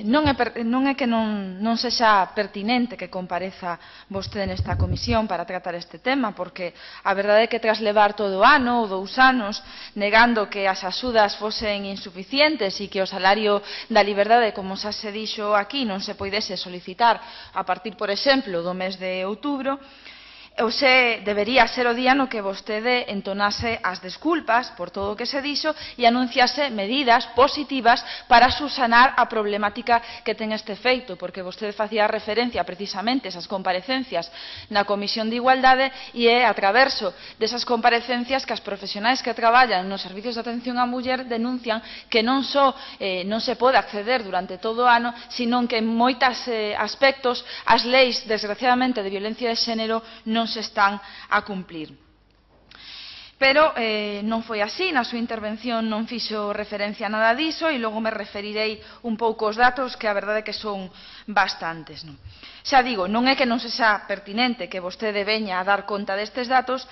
non é que non sexa pertinente que compareza vostede nesta comisión para tratar este tema, porque a verdade é que tras levar todo o ano ou 2 anos negando que as axudas fosen insuficientes e que o salario da liberdade, como xa se dixo aquí, non se poidese solicitar a partir, por exemplo, do mes de outubro, Hoxe debería ser o día no que vostede entonase as desculpas por todo o que se dixo e anunciase medidas positivas para subsanar a problemática que ten este feito, porque vostede facía referencia precisamente a esas comparecencias na Comisión de Igualdade e é a traverso desas comparecencias que as profesionais que traballan nos servicios de atención á muller denuncian que non só non se pode acceder durante todo o ano, sino que en moitos aspectos as leis, desgraciadamente, de violencia de xénero non se están a cumplir. Pero non foi así, na súa intervención non fixo referencia a nada diso e logo me referirei un pouco aos datos que a verdade é que son bastantes. Xa digo, non é que non sexa pertinente que vostede veña a dar conta destes datos,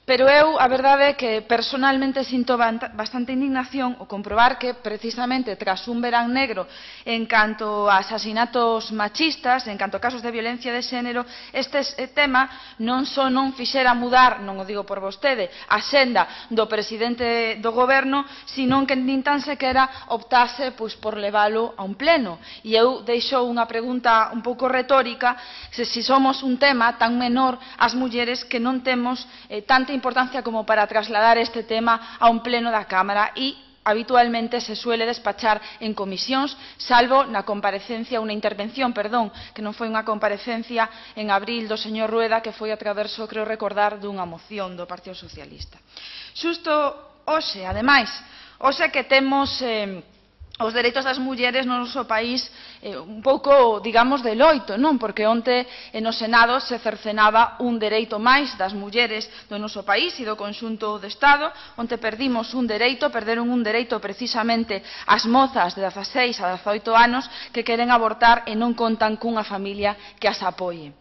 pero eu, a verdade é que personalmente sinto bastante indignación ao comprobar que precisamente tras un verán negro en canto a asasinatos machistas, en canto a casos de violencia de xénero, este tema non só non fixera mudar, non o digo por vostede, a senda do presidente do goberno, sino que nin tan sequera optase por leválo a un pleno. E eu deixo unha pregunta un pouco retórica, se somos un tema tan menor as mulleres que non temos tanta importancia como para trasladar este tema a un pleno da Cámara e habitualmente se suele despachar en comisións, salvo na comparecencia, unha intervención, perdón, que non foi unha comparecencia en abril do señor Rueda, que foi a traverso, creo recordar, dunha moción do Partido Socialista. Xusto hoxe, ademais, hoxe que temos os dereitos das mulleres no noso país un pouco, digamos, de loito, non? Porque onte no Senado se cercenaba un dereito máis das mulleres do noso país e do conxunto do Estado. Onte perderon un dereito precisamente as mozas de 16 a 18 anos que queren abortar e non contan cunha familia que as apoie.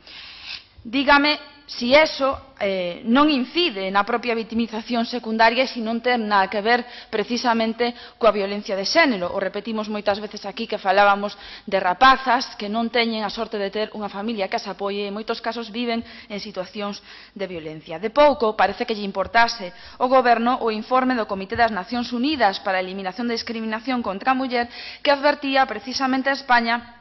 Dígame si eso non incide na propia vitimización secundaria e se non ten nada que ver precisamente coa violencia de xénero. O repetimos moitas veces aquí que falábamos de rapazas que non teñen a sorte de ter unha familia que as apoie e en moitos casos viven en situacións de violencia. De pouco parece que lle importase ao goberno o informe do Comité das Nacións Unidas para a Eliminación da Discriminación contra a Muller que advertía precisamente a España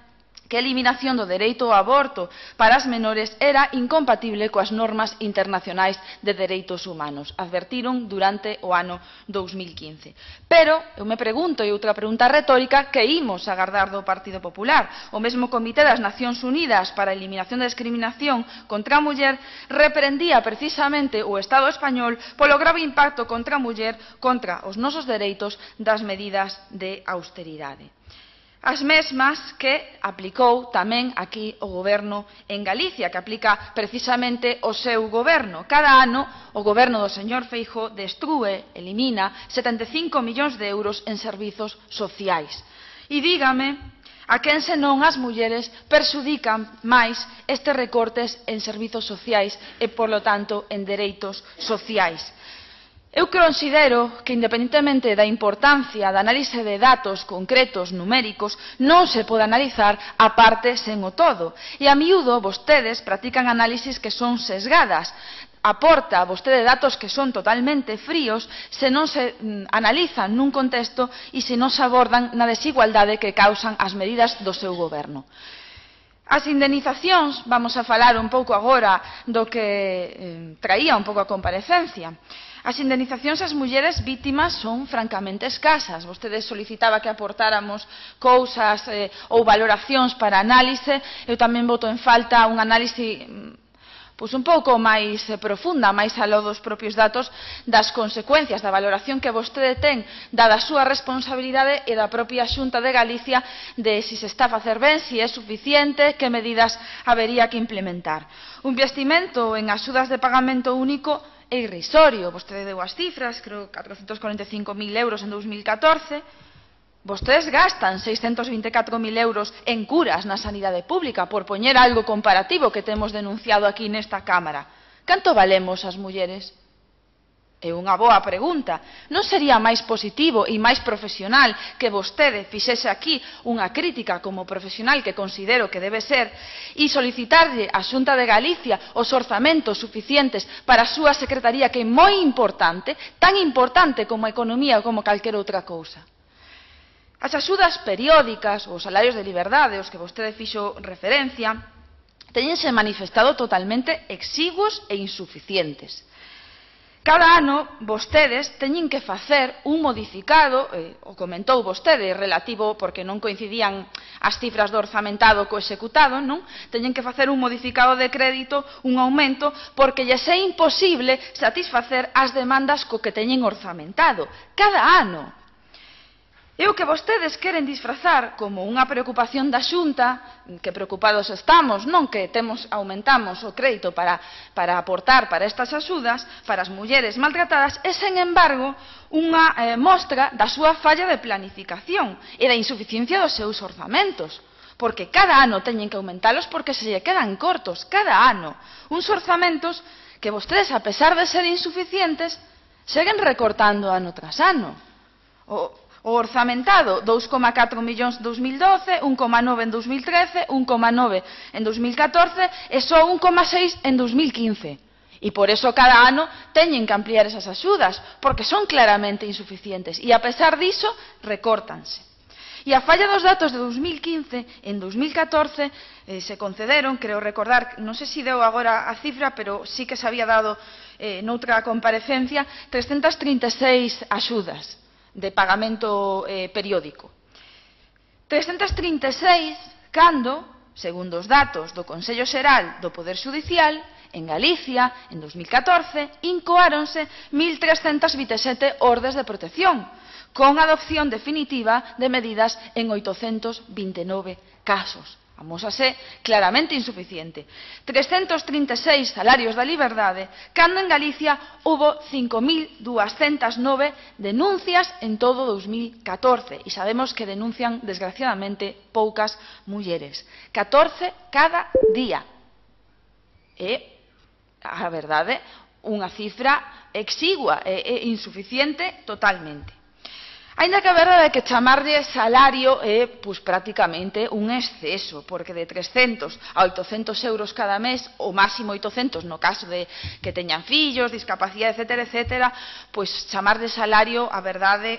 que a eliminación do dereito ao aborto para as menores era incompatible coas normas internacionais de dereitos humanos. Advertiron durante o ano 2015. Pero, eu me pregunto, e outra pregunta retórica, que imos agardar do Partido Popular? O mesmo Comité das Nacións Unidas para a Eliminación da Discriminación contra a Muller reprendía precisamente o Estado español polo grave impacto contra a muller, contra os nosos dereitos das medidas de austeridade. As mesmas que aplicou tamén aquí o goberno en Galicia, que aplica precisamente o seu goberno. Cada ano o goberno do señor Feijóo destrúe, elimina 75 millóns de euros en servizos sociais. E dígame a quen senón as mulleres perxudican máis estes recortes en servizos sociais e, polo tanto, en dereitos sociais. Eu considero que, independentemente da importancia da análise de datos concretos, numéricos, non se pode analizar a parte sen o todo. E a miúdo vostedes practican análisis que son sesgadas. Aporta vostede datos que son totalmente fríos se non se analizan nun contexto e se non se abordan na desigualdade que causan as medidas do seu goberno. As indemnizacións, vamos a falar un pouco agora do que traía un pouco a comparecencia. As indemnizacións ás mulleres vítimas son francamente escasas. Vostede solicitaba que aportáramos cousas ou valoracións para análise. Eu tamén boto en falta un análise un pouco máis profunda, máis aló dos propios datos, das consecuencias da valoración que vostede ten dada a súa responsabilidade e da propia Xunta de Galicia de se está a facer ben, se é suficiente, que medidas habería que implementar. Un investimento en axudas de pagamento único é irrisorio. Vostede deu as cifras, creo 445.000 euros en 2014. Vostedes gastan 624.000 euros en curas na sanidade pública, por poñer algo comparativo que temos denunciado aquí nesta Cámara. Canto valemos as mulleres? É unha boa pregunta. Non sería máis positivo e máis profesional que vostede fixese aquí unha crítica como profesional que considero que debe ser e solicitarlle á Xunta de Galicia os orzamentos suficientes para a súa secretaría, que é moi importante, tan importante como a economía ou como calquera outra cousa? As axudas periódicas, os salarios de liberdade, os que vostede fixo referencia, teñense manifestado totalmente exiguos e insuficientes. Cada ano, vostedes teñen que facer un modificado, o comentou vostede, relativo, porque non coincidían as cifras do orzamentado co executado, non? Teñen que facer un modificado de crédito, un aumento, porque lles é imposible satisfacer as demandas co que teñen orzamentado. Cada ano. E o que vostedes queren disfrazar como unha preocupación da Xunta, que preocupados estamos, non que aumentamos o crédito para aportar para estas axudas, para as mulleres maltratadas, é, sen embargo, unha mostra da súa falla de planificación e da insuficiencia dos seus orzamentos. Porque cada ano teñen que aumentalos porque se lle quedan cortos, cada ano. Uns orzamentos que vostedes, a pesar de ser insuficientes, seguen recortando ano tras ano. O orzamentado, 2,4 millóns en 2012, 1,9 en 2013, 1,9 en 2014 e só 1,6 en 2015. E por eso cada ano teñen que ampliar esas axudas, porque son claramente insuficientes. E a pesar diso, recórtanse. E a falla dos datos de 2015, en 2014 se concederon, creo recordar, non sei se deu agora a cifra, pero sí que se había dado noutra comparecencia, 336 axudas de pagamento periódico. 336 cando, segundo os datos do Consello Xeral do Poder Xudicial, en Galicia, en 2014, incoáronse 1.327 ordes de protección, con adopción definitiva de medidas en 829 casos. Amósase claramente insuficiente. 336 salarios da liberdade, cando en Galicia hubo 5.209 denuncias en todo 2014. E sabemos que denuncian, desgraciadamente, poucas mulleres. 14 cada día. É, a verdade, unha cifra exigua e insuficiente totalmente. Aínda que a verdade é que chamarlle salario é prácticamente un exceso, porque de 300 a 800 euros cada mes, o máximo 800 no caso de que teñan fillos, discapacidade, etcétera, pois chamarlle salario, a verdade,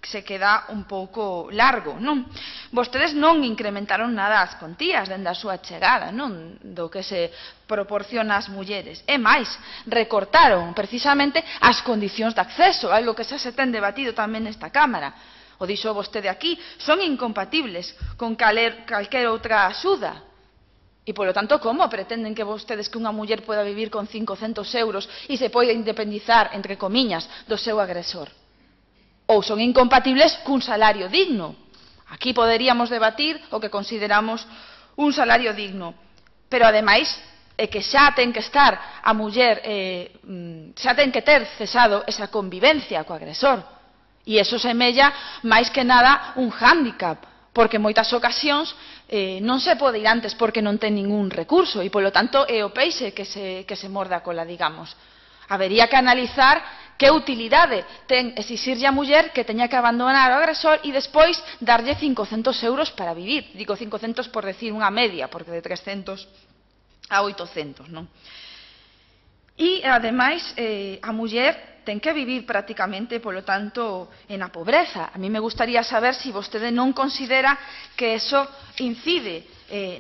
se queda un pouco largo, non? Vostedes non incrementaron nada as contías dende a súa chegada, non? Do que se proporciona ás mulleres. E máis, recortaron precisamente as condicións de acceso, algo que xa se ten debatido tamén nesta Cámara. O dixo vostede aquí, son incompatibles con calquera outra axuda. E, polo tanto, como pretenden que vostedes que unha muller poda vivir con 500 euros e se poida independizar, entre comiñas, do seu agresor? Ou son incompatibles cun salario digno. Aquí poderíamos debatir o que consideramos un salario digno. Pero, ademais, é que xa ten que estar a muller, xa ten que ter cesado esa convivencia co agresor. E iso semella máis que nada un hándicap, porque en moitas ocasións non se pode ir antes porque non ten ningún recurso e, polo tanto, é o peixe que se morde a cola, digamos. Habería que analizar que utilidade ten exixirlle a muller que teña que abandonar o agresor e despois darlle 500 euros para vivir. Digo 500 por decir unha media, porque de 300 a 800, non? E, ademais, a muller ten que vivir prácticamente, polo tanto, na pobreza. A mí me gustaría saber se vostede non considera que eso incide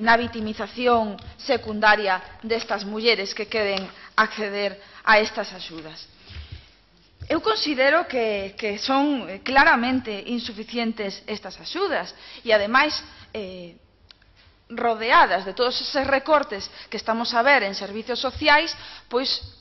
na vitimización secundaria destas mulleres que queren acceder a estas axudas. Eu considero que son claramente insuficientes estas axudas e, ademais, rodeadas de todos eses recortes que estamos a ver en servicios sociais, pois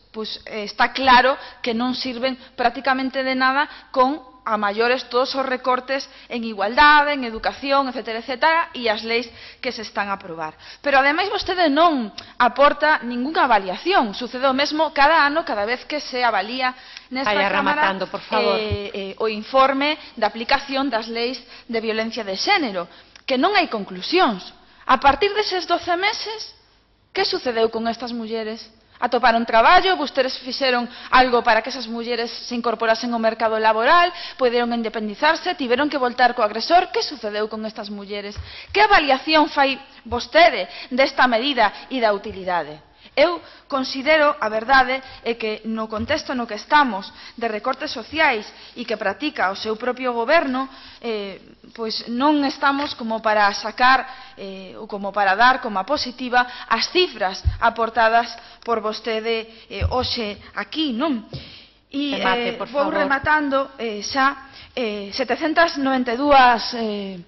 está claro que non sirven prácticamente de nada con a maiores todos os recortes en igualdade, en educación, etcétera, e as leis que se están a aprobar. Pero, ademais, vostede non aporta ningunha avaliación. Sucede o mesmo cada ano, cada vez que se avalía nesta Cámara o informe de aplicación das leis de violencia de xénero, que non hai conclusións. A partir deses 12 meses, que sucedeu con estas mulleres? atoparon traballo, vostedes fixeron algo para que esas mulleres se incorporasen ao mercado laboral, poderon independizarse, tiveron que voltar co agresor. Que sucedeu con estas mulleres? Que avaliación fai vostede desta medida e da utilidade? Eu considero, a verdade, é que no contexto no que estamos de recortes sociais e que practica o seu propio goberno, pois non estamos como para sacar ou como para dar como a positiva as cifras aportadas por vostede hoxe aquí, non? E vou rematando xa 792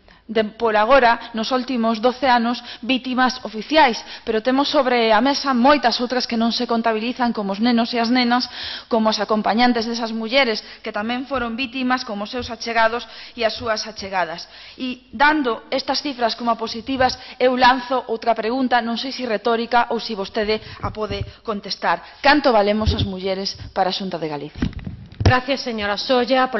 por agora, nos últimos 12 anos, vítimas oficiais, pero temos sobre a mesa moitas outras que non se contabilizan, como os nenos e as nenas, como os acompañantes desas mulleres que tamén foron vítimas, como os seus achegados e as súas achegadas. E dando estas cifras como positivas, eu lanzo outra pregunta, non sei se retórica ou se vostede a pode contestar. Canto valemos as mulleres para a Xunta de Galicia? Gracias, señora Solla.